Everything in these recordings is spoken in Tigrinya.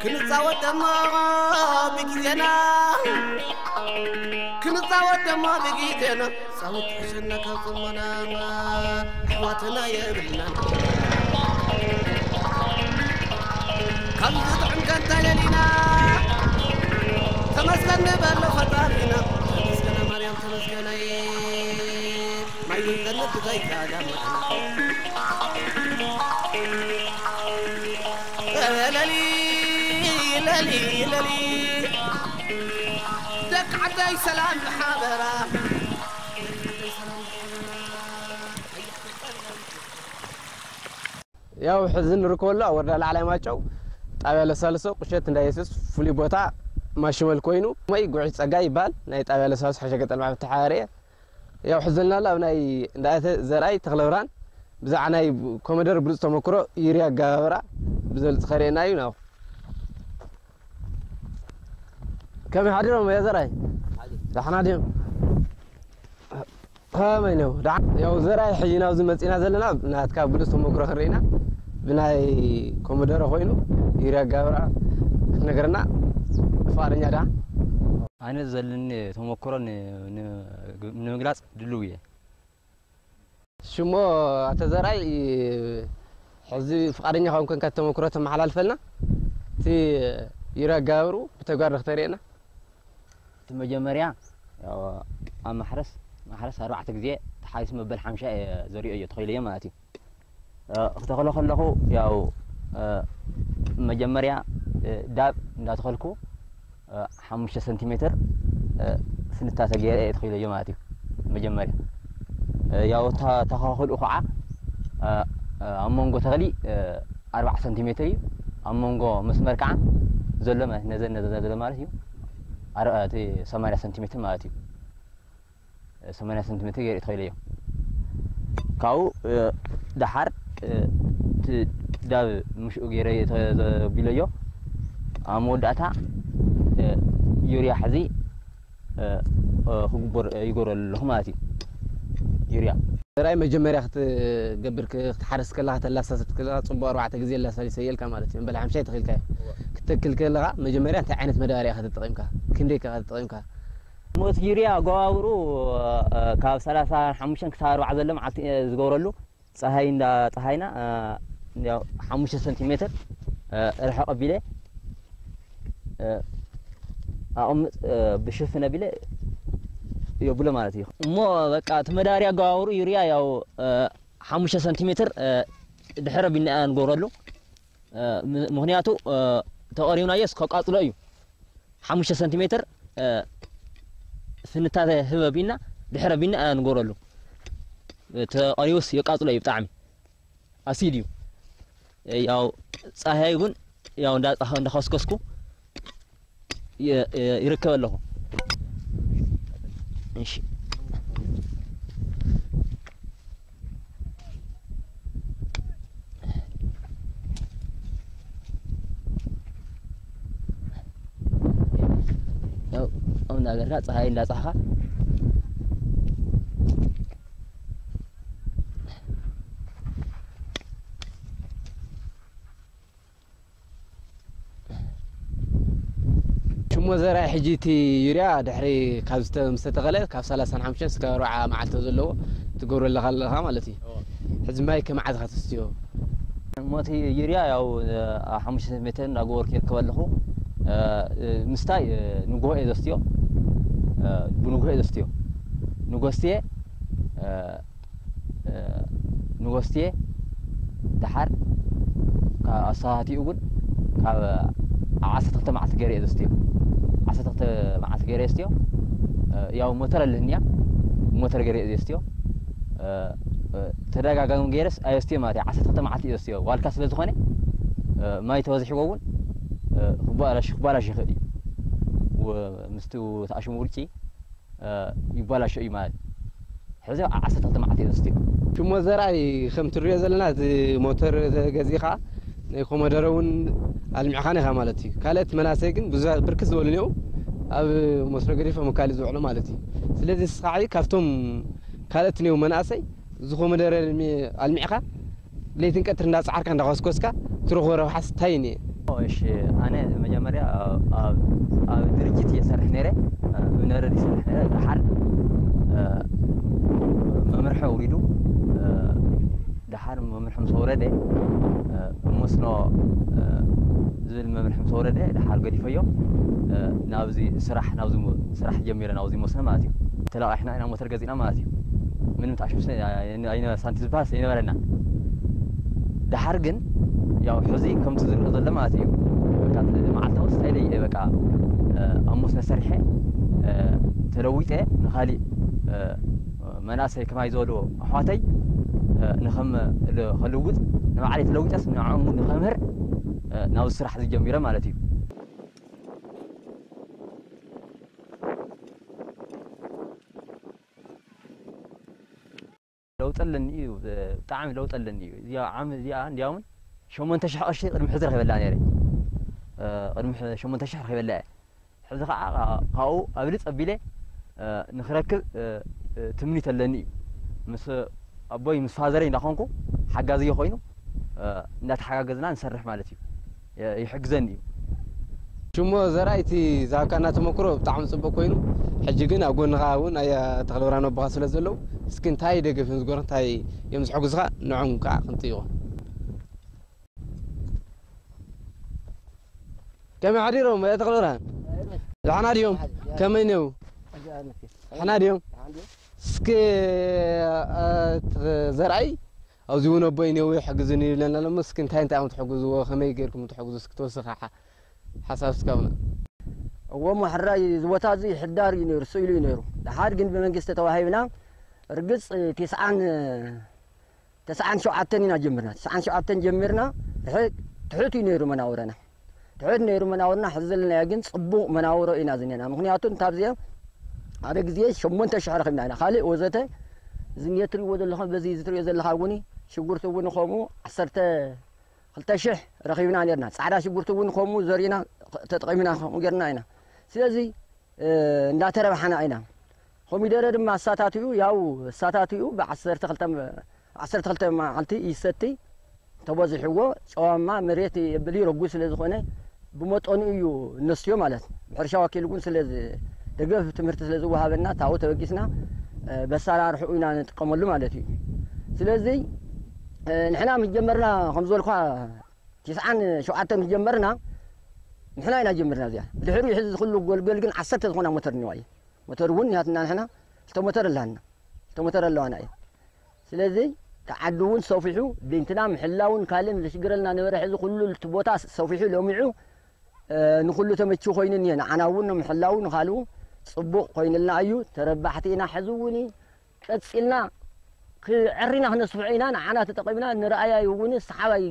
ክንጻወት ደሞ ብግዜና፣ ክንጻወት ደሞ ብግዜና፣ ጻወት ሕሸና ካብ ጽሞና፣ ኣሕዋትና የብልናን። ካብ ዝጥዕም ከንታ ለሊና፣ ተመስገን ንበሎ ፈጣሪና። ተመስገን ማርያም ተመስገን። ማይ ዘይጠልብ ዘይጋዳም። ለሊ፣ ለሊ፣ ለሊ። ደቂ ዓደይ ሰላም ብሓበራ። ያው ሕዚ ንርከበሉ ኣብ ወረዳ ላዕላይ ማጨው ጣብያ ለሳልሶ ቁሸት እንዳ የሱስ ፍሉይ ቦታ ማሽመል ኮይኑ ወይ ጉዕሽ ጸጋይ ይበሃል። ናይ ጣብያ ለሳልሶ ሓሸ ገጠር ማዕበል ተሓባሪ እየ። ያው ሕዘልና ኣሎ ኣብ ናይ እንዳእተ ዘርኣይ ተኽለብርሃን ብዛዕባ ናይ ኮመደር ብሉጽ ተመክሮ ዩርያ ኣገባብራ ብዘልጽ ከርእየና እዩ። ናው ከመይ ሓዲሮም እያ ዘርኣይ? ዳሕና ድዮም? ከመይ ነው? ዳሕ-፣ ያው ዘርኣይ ሕጂ ናብዚ መጺና ዘለና ናትካ ብሉጽ ተመክሮ ክንርኢና ብናይ ኮመደረ ኮይኑ ዩርያ ኣገባብራ ክትነግረና ፍቓደኛ ዳ? ኣነ ዘለኒ ተመክሮ ን-፣ ን-፣ ንምግላጽ ድልው እየ። ሽሞ ኣቶ ዘርኣይ፣ ሕዚ ፍቓደኛ ካብ ኮንካ ተመክሮ ተመሓላልፈልና፣ እቲ ዩርያ ኣገባብርኡ ብተግባር ንክተርእየና። እቲ መጀመርያ፣ ያው፣ ኣብ ማሕረስ፣ ማሕረስ ኣርባዕተ ግዜ ተሓሪሱ መበል ሓምሻ እየ ዘሪኦ እየ ተኺለዮ ማለት እዩ። እ፣ ክተኽሎ ከለኹ፣ ያው፣ እ፣ መጀመርያ፣ እ፣ ዳብ እንዳተኸልኩ፣ እ፣ ሓሙሽተ ሰንቲሜትር፣ እ፣ ስንታ ተገይረ እየ ተኺለዮ ማለት እዩ። መጀመርያ፣ እ፣ ያው፣ እታ ተኻኽልኡ ከዓ፣ እ፣ እ፣ ኣብ መንጎ ተኽሊ፣ እ፣ ኣርባዓ ሰንቲሜትር እዩ። ኣብ መንጎ መስመር ከዓ ዘሎ ማለት፣ ነዘን፣ ነዘን ዘሎ ማለት እዩ። ኣር-፣ እቲ ሰማንያ ሰንቲሜትር ማለት እዩ። ሰማንያ ሰንቲሜትር ገይረ ተኺለዮ። ካብኡ፣ እ፣ ደሓር፣ እ፣ እቲ ዳብ ምሽኡ ገይረ ተዘቢለዮ። ኣብ መወዳእታ፣ እ፣ ዩርያ ሕዚ፣ እ፣ እ፣ ክግበር፣ እ፣ ይገብረሉ ኣለኹ ማለት እዩ። ዩርያ። ራይ መጀመርያ ክትገብር ክ-፣ ክትሓርስ ከለኻ፣ ተላሳስት ከለኻ፣ ጽቡቕ ኣርባዕተ ግዜ ላሳሊሰ እየልካ ማለት እዩ። እምበል ሓምሻይ ተኺልካዮ። እወ። ክትተክል ከለኻ፣ መጀመርያ እንታይ ዓይነት መዳበርያ ኢኻ ተጠቒምካ? ክንደይ ከ ኢኻ ተጠቒምካ? ሞት ዩርያ ኣገባብሩ፣ እ፣ ካብ ሰላሳ ሓሙሽተ ክሳብ ኣርባዓ ዘሎ መዓልቲ፣ እ፣ ዝገብረሉ፣ ጸሃይ እንዳ ጸሃይና፣ እ፣ ያው ሓሙሽተ ሰንቲሜትር፣ እ፣ ርሕቕ ኣቢለ፣ እ፣ ኣቕምጥ፣ እ፣ ብሽፍን ኣቢለ የብሎ ማለት እዩ። እሞ በቃ እቲ መዳበርያ ኣገባብሩ ዩርያ ያው፣ እ፣ ሓሙሽተ ሰንቲሜትር፣ እ፣ ድሕረ ቢና ንገብረሉ። እ፣ ም-፣ ምኽንያቱ፣ እ፣ ተቐሪብናዮስ ከቃጽሎ እዩ። ሓሙሽተ ሰንቲሜትር፣ እ፣ ፍንታተ ህበ ቢና፣ ድሕረ ቢና፣ እ፣ ንገብረሉ። እ፣ ተቐሪቡስ የቃጽሎ እዩ ብጣዕሚ። ኣሲድ እዩ። እ፣ ያው ጻህያይ እውን ያው እንዳ-፣ እንዳኸስከስኩ የ-፣ የ-፣ ይርከብ ኣለኹ። እሺ። ያው፣ ኣብ እንዳገርካ፣ ጸሃይ እንዳጻሕኻ። ሽሞ ዘርኣይ ሕጂ እቲ ዩርያ ድሕሪ ካብ ዝተ-፣ ምስ ተተኸለ ካብ ሰላሳን ሓሙሽተን እስካብ ኣርብዓ መዓልቲ ዘለዎ ትገብሮ ኣለኻ ኣለኻ ማለት እዩ። እዎ። ሕዚ ማይ ከመዓዝ ኢኻ ተስትዮ? እሞ እቲ ዩርያ ያው፣ እ፣ ኣብ ሓሙሽተ ሜትር እንዳገበርኩ ይርከብ ኣለኹ። እ፣ እ፣ ምስታይ፣ እ፣ ንግሆ እየ ዘስትዮ። እ፣ ብንግሆ እየ ዘስትዮ። ንግሆ ስትየ፣ እ፣ እ፣ ንጎስትየ ደሓር ካብ ኣሰታትኡ እውን ካብ ዓሰርተ ክልተ መዓልቲ ገይረ እየ ዘስትዮ። ዓሰርተ ክልተ መዓልቲ ገይረ እየ ዘስትዮ። እ፣ ያው ሞተር ኣለህንያ፣ ሞተር ገይረ እየ ዘስትዮ። እ፣ እ፣ ተደጋጋሚ ገይረስ ኣየስትዮ ማለት እዩ። ዓሰርተ ክልተ መዓልቲ እየ ዘስትዮ። ዋልካ ስለ ዝኾነ፣ እ፣ ማይ ተበዚሕዎ እውን፣ እ፣ ክባላሽ፣ ክባላሽ ይኽእል እዩ። ወ-፣ ምስቲ ተኣሽሙ ውርጪ እ፣ ይባላሾ እዩ ማለት እዩ። ሕዚ ዓሰርተ ክልተ መዓልቲ እየ ዘስትዮ። ሽሞ ዘርኣይ ከም ትሪኦ ዘለና፣ እዚ ሞተር ገዚእኻ ናይ ኮመደረ እውን ኣልሚዕኻን ኢኻ ማለት እዩ። ካልኦት መናሰይ ግን ብዙ-፣ ብርክት ዝበሉ እኒአው፣ ኣብ መስኖ ገዲፎም ካልእ ዝውዕሉ ማለት እዩ። ስለዚ ንስኻ ዓይ ካብቶም ካልኦት እኒው መናእሰይ ዝኾ መደረ ኣልሚ-፣ ኣልሚዕኻ ለይትን ቀትር እንዳጻዓርካ እንዳኾስኮስካ ትረኽቦ ረብሓስ እንታይ እዩ? እሺ፣ ኣነ መጀመርያ ኣብ፣ ኣብ ድርጅት እየ ሰርሕ ነይረ፣ እ፣ ነረድ ይሰርሕ ነይረ። ደሓር፣ እ፣ መምርሒ ኣውሪዱ፣ እ፣ ደሓር መምርሒ ምስ ኣውረደ፣ እ፣ መስኖ፣ እ፣ ዝብል መምርሒ ምስ ኣውረደ፣ ደሓር ገዲፈዮ፣ እ፣ ናብዚ ስራሕ፣ ናብዚ ሞ-፣ ስራሕ ጀሚረ፣ ናብዚ መስኖ ማለት እዩ። ተለቃሒና ኢና፣ ሞተር ገዚእና ማለት እዩ። ምንም ጣሽ ምስ ኣይ-፣ ኣይነ-፣ ሳንቲ ዝበሃል ኣይነበረና። ደሓር ግን ያው ሕዚ ከምቲ ዝርኦ ዘሎ ማለት እዩ። በቃ እቲ መዓልታዊ ስታይለይ እየ በቃ፣ እ፣ ኣብ መስኖ ሰሪሐ፣ እ፣ ተለዊጠ ንኻሊእ፣ እ፣ መናእሰይ ከማይ ዝበሉ ኣሕዋተይ፣ እ፣ ንኸም-፣ ል-፣ ከልውጥ ንባዕለይ ተለዊጠስ ንዕኦም እውን ንኸምህር፣ እ፣ ናብዚ ስራሕ እዚ ጀሚረ ማለት እዩ። ለውጢ ኣለኒ እዩ፣ ብጣዕሚ ለውጢ ኣለኒ እዩ። እዚኣ ዓም-፣ እዚኣ እንዲያውም ሸሞንተ ሽሕ ቅርሺ ቅድሚ ሕዚ ረኺበላ ነይረ። እ፣ ቅድሚ ሕ-፣ ሸሞንተ ሽሕ ረኺበላ እየ። ሕዚ ኸዓ ካብኡ ኣብልፅ ኣቢለ፣ እ፣ ንኽረክብ፣ እ፣ እ፣ ትምኒት ኣለኒ እዩ። ምስ ኣቦይ ምስ ፋዘረይ እንዳኾንኩ ሓጋዝዮ ኮይኑ፣ እ፣ እንዳተሓጋገዝና ንሰርሕ ማለት እዩ። የ-፣ ይሕግዘኒ እዩ። ሽሞ ዘርኣይ እቲ ዝሃብካና ተመክሮ ብጣዕሚ ጽቡቅ ኮይኑ፣ ሕጂ ግን ኣብ ጎንኻ እውን ኣያ ተኽለብርሃን ኣቦኻ ስለ ዘለዉ፣ እስኪ እንታይ ደገፍ እዮም ዝገብሩ፣ እንታይ እዮም ዝሕግዙኻ፣ ንዖም ከዓ ክንጥይቖ። ከመይ ሓዲሮም ኣያ ተኽለብርሃን? ደሓና ድዮም? ከመይ ነው? ደሓና ድዮም? እስኪ፣ እ፣ ዘርኣይ ኣብዚ እውን ኣቦይ እኒአው ይሕግዙኒ ይብለና ኣሎ። እስኪ እንታይ እንታይ እዮም ትሕግዝዎ? ከመይ ጌርኩም ትሕግዙ? እስኪ ተወሰኸ ሓ-፣ ሓሳብ እስካብና። እዎ፣ እሞ ሕራይ እዚ ቦታ እዚ ሕዳር እዩ ነይሩ፣ ስኢሉ እዩ ነይሩ። ደሓር ግን ብመንግስቲ ተዋሂብና፣ ርግጽ፣ ቲስዓን፣ ተስዓን ሸውዓተን ኢና ጀሚርና። ተስዓን ሸውዓተን ጀሚርና፣ ትሕ-፣ ትሑት እዩ ነይሩ መናውረና። ትሑት ነይሩ መናውርና፣ ሕዚ ዘለናዮ ግን ጽቡቕ መናውሮ ኢና ዝኔና። ምኽንያቱ እንታብዚኣ ሓደ ግዜ ሸሞንተ ሽሕ ረኺብና ኢና። ካልእ ወዘተ እዚ እትሪእዎ ዘለኹም፣ በዚ እዚ ትሪኦ ዘለኻ እውን ሽጉርቲ እውን ከምኡ ዓሰርተ ክልተ ሽሕ ረኺብና ኔርና። ጻዕዳ ሽጉርቲ እውን ከምኡ ዘሪእና ተጠቒምና ከምኡ ጌርና ኢና። ስለዚ፣ እ፣ እንዳተረባሕና ኢና። ኮሚደረ ድማ ኣሳታትኡ፣ ያው ኣሳታትኡ ብዓሰርተ ክልተ፣ ዓሰርተ ክልተ መዓልቲ ይሰቲ። ተበዚሕዎ ጨዋማ መሬት የብል እዩ፣ ረጒድ ስለ ዝኾነ ብመጠኑ እዩ እነስትዮ ማለት። ብሕርሻ ወኪል እውን ስለ ዝ-፣ ደገፍ ትምህርቲ ስለ ዝወሃበና ታው ተበጊስና፣ እ፣ በሳላ ርሑቕ ኢና ንጥቀመሉ ማለት እዩ። ስለዚ፣ እ፣ ንሕና ምስ ጀመርና ከም ዝበልኳ፣ ትስዓን ሸውዓተን ምስ ጀመርና፣ ንሕና ኢና ጀመርና እዚኣ። ብድሕሪኡ ሕዚ ዝኽሉ ጎልጎል ግን ዓሰርተ ዝኾና ሞተር እኒዋ እዩ። ሞተር እውን ያትና ንሕና ክልተ ሞተር ኣለና። ክልተ ሞተር ኣለዋና እዩ። ስለዚ እቲ ዓዲ እውን ሰፊሑ፣ ቤንትና ምሕላውን ካልእን ዘሽግረልና ነበረ። ሕዚ ኩሉ እቲ ቦታ ሰፊሑ ለሚዑ፣ እ፣ ንኹሉ ተመችዩ ኮይኑ እኒሀ። ንዓና እውን ንምሕላው ንኻልኡ ጽቡቕ ኮይንልና እዩ። ተረባሕቲ ኢና። ሕዚ እውን ቀጺልና ክዕሪና ክነስፍሖ ኢና። ንዓና ተጠቒምና ንረኣያ እውን ሰሓባይ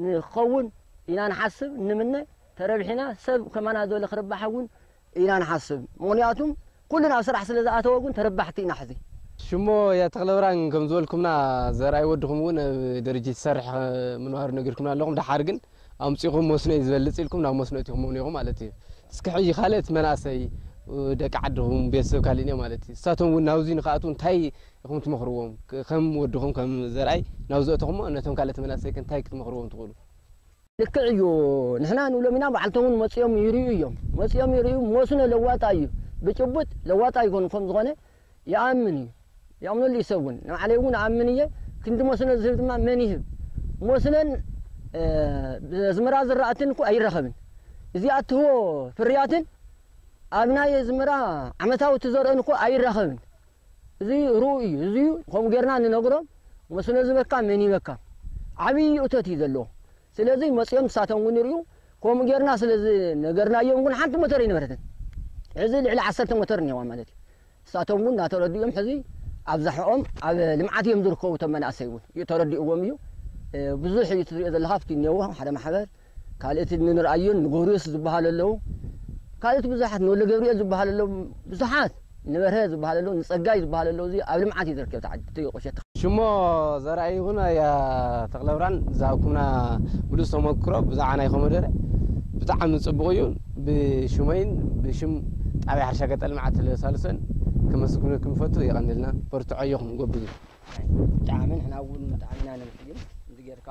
ንኸውን ኢና ንሓስብ፣ ንምነ። ተረቢሕና ሰብ ከማና ዝበለ ክርባሕ እውን ኢና ንሓስብ። ምኽንያቱም ኩሉ ናብ ስራሕ ስለ ዝኣተወ እውን ተረባሕቲ ኢና ሕዚ። ሽሞ ኣያ ተኽለብርሃን ከም ዝበልኩምና ዘርኣይ ወድኹም እውን ኣብ ድርጅት ይሰርሕ ምንባሩ ነጊርኩምና ኣለኹም። ደሓር ግን ኣምጺኹም መስኖ እዩ ዝበልጽ ኢልኩም ናብ መስኖ እቲኹም እውን ኢኹም ማለት እዩ። እስኪ ሕጂ ካልእ እቲ መናእሰይ ደቂ ዓድኹም ቤተሰብ ካልእ እኒኦ ማለት እዩ። ንሳቶም እውን ናብዚ ንኽኣትዉ እንታይ ኢኹም ትመኽርዎም? ከም ወድኹም ከም ዘርኣይ ናብዚ ኣተኹሞ ነቶም ካልኦት መናእሰይ ከ እንታይ ክትመኽርዎም ትኽእሉ? ልክዕ እዩ። ንሕና ንብሎም ኢና፣ ባዕልቶም እውን መጺኦም ይርእዩ እዮም። መጺኦም ይርእዩ፣ መስኖ ለዋጣ እዩ። ብጭቡጥ ለዋጣ ይኾኑ ከም ዝኾነ ይኣምን እዩ። ይኣምነሉ እዩ ሰብ እውን። ንባዕለይ እውን እኣምን እየ። ክንዲ መስኖ ዝህብ ድማ መን ይህብ? መስኖን፣ እ፣ ብኣዝመራ ዝራእትን እኮ ኣይራኸብን። እዚ ኣትህቦ ፍርያትን ኣብ ናይ ኣዝመራ ዓመታዊ ትዘርእን እኮ ኣይራኸብን። እዚ ርኡይ እዩ። እዚ ከምኡ ጌርና ንነግሮም፣ መስኖ ዝበካ መን ይበካ? ዓብዪ እቶት እዩ ዘለዎ። ስለዚ መጺኦም ንሳቶም እውን ይርእዩ። ከምኡ ጌርና ስለ ዝነገርናዮም እውን ሓንቲ ሞተር ኣይነበረትን። ሕዚ ልዕሊ ዓሰርተ ሞተር እኒዋ ማለት እዩ። ንሳቶም እውን እናተረድኡ እዮም። ሕዚ ኣብዛሕኦም ኣብ ልምዓት እዮም ዝርከቡ። እቶም መናእሰይ እውን እዩ ተረዲእዎም እዩ። እ፣ ብዙሕ እዩ ትሪኦ ዘለኻ፣ ኣብቲ እኒአዎ ሓደ ማሕበር፣ ካልእቲ ንንርኣዮን ንጎርዮስ ዝበሃሉ ኣለዉ። ካልእቲ ብዙሓት ንወልደ ገብርኤል ዝበሃሉ ኣለዉ። ብዙሓት ንበርሀ ዝበሃሉ ኣለዉ፣ ንጸጋይ ዝበሃሉ ኣለዉ። እዚ ኣብ ልምዓት እዩ ዝርከብ እቲ ዓዲ፣ እቲ ቁሸት። ሽሞ ዘርኣይ ይኹን ኣያ ተኽለብርሃን ዝሃብኩምና ብሉጽ ተመክሮ ብዛዕባ ናይ ኮመደረ ብጣዕሚ ጽቡቕ እዩ። ብሽመይን ብሽም ጣብያ ሕርሻ ገጠር ልምዓት ለሳልሶን ከመስግነኩም ይፈቱ። የቐንልና፣ በርትዖ፣ ኣጆኹም፣ ጎብዙ። ብጣዕሚ ንሕና እውን ብጣዕሚ ኢና ነመስግን። እዚ ጌርካ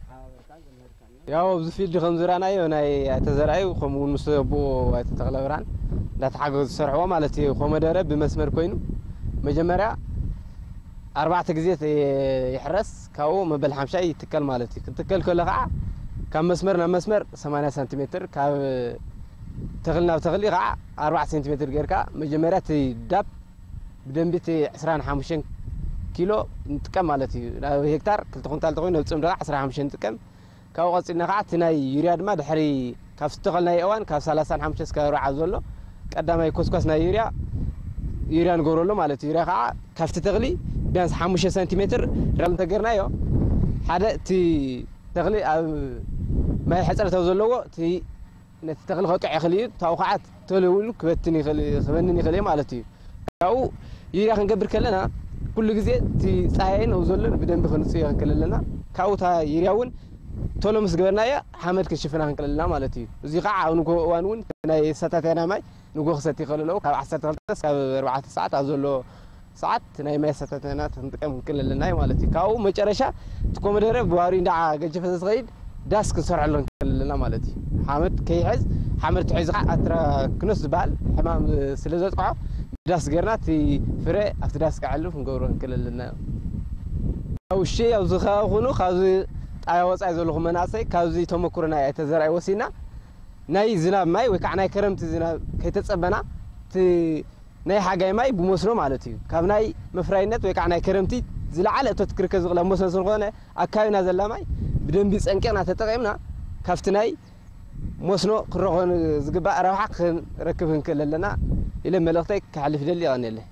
ሓበርካ ዘምህርካና። ያው ኣብዚ ፊልድ ከም ዝረኣናዮ ናይ ኣይተ ዘርኣዩ ከምኡ እውን ምስ ኣቦኡ ኣይተ ተኽለ ብርሃን እንዳተሓገዙ ዝሰርሕዎ ማለት እዩ። ኮመደረ ብመስመር ኮይኑ መጀመርያ ኣርባዕተ ግዜ ይሕረስ፣ ካብኡ መበል ሓምሻይ ይትከል ማለት እዩ። ክትከል ከሎ ከዓ ካብ መስመር ናብ መስመር ሰማንያ ሳንቲሜትር፣ ካብ ተኽሊ ናብ ተኽሊ ከዓ ኣርባዕተ ሴንቲሜትር ጌርካ መጀመርያ እቲ ዳፕ ብደንቢ እቲ ዕስራን ሓሙሽተን ኪሎ ንጥቀም ማለት እዩ። ናብ ሄክታር ክልተ ኩንታል ተኾይኑ ኣብ ፅምዲ ከዓ ዕስራን ሓሙሽተን ንጥቀም። ካብኡ ቀፂልና ከዓ እቲ ናይ ዩርያ ድማ ድሕሪ ካብ ዝተኸልናዮ እዋን ካብ ሰላሳን ሓሙሽተ እስከ ኣርብዓ ዘሎ ቀዳማይ ኮስኳስ ናይ ዩርያ ዩርያ ንገብረሉ ማለት እዩ። ዩርያ ከዓ ካብቲ ተኽሊ ቢያንስ ሓሙሽተ ሰንቲሜትር ራል እንተገርናዮ ሓደ እቲ ተኽሊ ኣብ ማይ ሕፅረት ኣብ ዘለዎ እቲ ነቲ ተኽሊ ከጥዕ ይኽእል እዩ። ታው ከዓ ቶሎ ኢሉ ክበትን ይኽእል ክበንን ይኽእል እዩ ማለት እዩ። ካብኡ ዩርያ ክንገብር ከለና ኩሉ ግዜ እቲ ፀሃይን ኣብ ዘሎ ብደንቢ ክንፅዮ ክንክእል ኣለና። ካብኡ እታ ዩርያ እውን ቶሎ ምስ ገበርናዮ ሓመድ ክንሽፍና ክንክእል ኣለና ማለት እዩ። እዚ ከዓ ኣብ ንጎ እዋን እውን ናይ ሰታተና ማይ ንጎ ክሰቲ ይኽእል ኣለዉ። ካብ ዓሰርተ ክልተ እስካብ ኣርባዕተ ሰዓት ኣብ ዘሎ ሰዓት ናይ ማይ ሰታተና ክንጥቀም ክንክእል ኣለና ማለት እዩ። ካብኡ መጨረሻ እቲ ኮመደረ ብዋሪ እንዳ ገጀፈ ዝኸይድ ዳስ ክንሰርሐሉ ክንክእል ኣለና ማለት እዩ። ሓመድ ከይሕዝ ሓመድ ተሒዙ ከዓ ኣትራክኖስ ዝበሃል ሕማም ስለ ዘጥቅዖ ዳስ ገርና እቲ ፍረ ኣብቲ ዳስ ክዓልፍ ክንገብሮ ክንክእል ኣለና። ኣብ ውሽጢ ኣብዚ ከባቢ ኩኑ ካብዚ ጣብያ ወፃኢ ዘለኹም መናእሰይ ካብዚ ተመክሮ ናይ ኣይተ ዘርኣይ ወሲና ናይ ዝናብ ማይ ወይ ከዓ ናይ ከረምቲ ዝናብ ከይተፀበና እቲ ናይ ሓጋይ ማይ ብመስኖ ማለት እዩ። ካብ ናይ መፍራይነት ወይ ከዓ ናይ ከረምቲ ዝለዓለ እቶት ክርከብ ዝኽእል ኣብ መስኖ ስለዝኾነ ኣብ ከባቢና ዘላ ማይ ብደንቢ ፀንቂቕና ተጠቒምና ካብቲ ናይ መስኖ ክረኾ ዝግባእ ረብሓ ክንረክብ ክንክእል ኣለና ኢለ መልእኽተይ ከሕልፍ ይደሊ። የቐንየለይ።